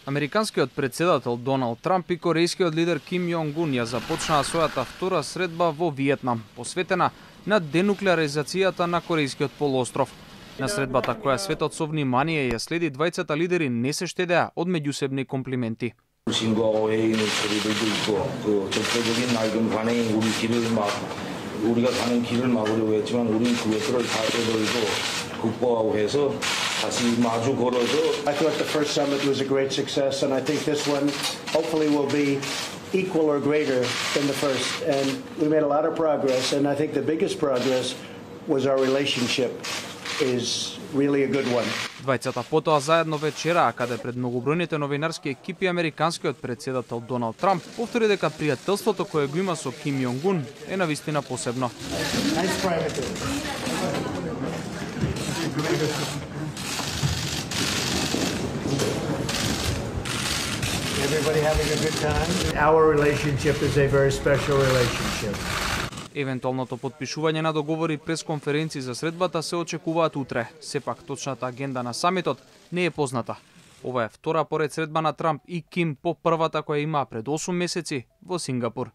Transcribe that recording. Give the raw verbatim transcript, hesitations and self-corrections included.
Американскиот председател Доналд Трамп и корејскиот лидер Ким Јонг Ун ја започнаа својата втора средба во Виетнам, посветена на денуклеаризацијата на Корејскиот полуостров. На средбата која светот со внимание ја следи, двајцата лидери не се штедеа од меѓусебни комплименти. 친구하고 회의 있는 소리들도 있고 그 적극적인 낡은 관행이 우리 길을 막 우리가 가는 길을 막으려고 했지만 우리는 그것들을 다 떠돌고 극복하고 해서 다시 마주 걸어서 I thought the first summit was a great success and I think this one hopefully will be equal or greater than the first, and we made a lot of progress, and I think the biggest progress was our relationship is really a good one. Двајцата потоа заедно вечераа, каде пред многобројните новинарски екипи американскиот председател Доналд Трамп повтори дека пријателството кое го има со Ким Јонг Ун е навистина посебно. Everybody having a good time? Our relationship is a very special relationship. Евентуалното потпишување на договори през конференции за средбата се очекуваат утре. Сепак точната агенда на самитот не е позната. Ова е втора поред средба на Трамп и Ким по првата која имаа пред осум месеци во Сингапур.